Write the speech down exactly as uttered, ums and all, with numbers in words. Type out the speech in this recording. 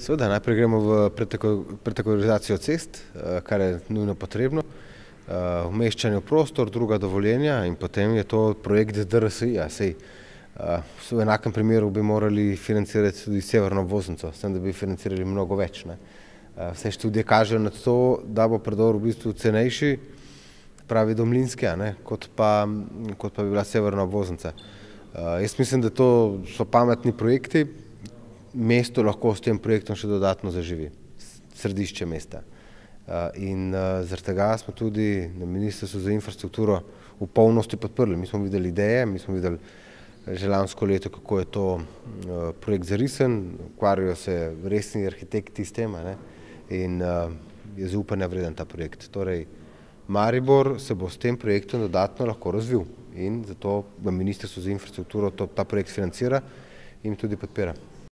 Seveda, najprej gremo v prekategorizacijo cest, kar je nujno potrebno, umeščanje v prostor, druga dovoljenja in potem je to projekt D R S I-ja, saj v enakem primeru bi morali financirati tudi severno obvoznico, s tem, da bi financirali mnogo več. Vse študije kažejo na to, da bo predor v bistvu cenejši, pravi do Mlinske, kot pa, kot pa bi bila severna obvoznica. Jaz mislim, da to so pametni projekti, mesto lahko s tem projektom še dodatno zaživi, središče mesta. In zaradi tega smo tudi na Ministrstvu za infrastrukturo v polnosti podprli. Mi smo videli ideje, mi smo videli že lansko leto, kako je to projekt zarisen, ukvarjajo se resni arhitekti s tem in je zaupanja vreden ta projekt. Torej, Maribor se bo s tem projektom dodatno lahko razvil in zato Ministrstvo za infrastrukturo ta projekt financira in tudi podpira.